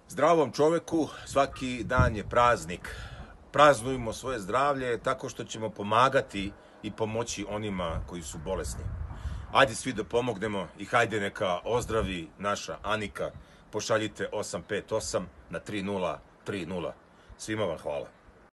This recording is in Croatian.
Zdravom čoveku svaki dan je praznik. Praznujmo svoje zdravlje tako što ćemo pomagati i pomoći onima koji su bolesni. Ajde svi da pomognemo i hajde neka ozdravi naša Anika. Pošaljite 858 na 3030. Svima vam hvala.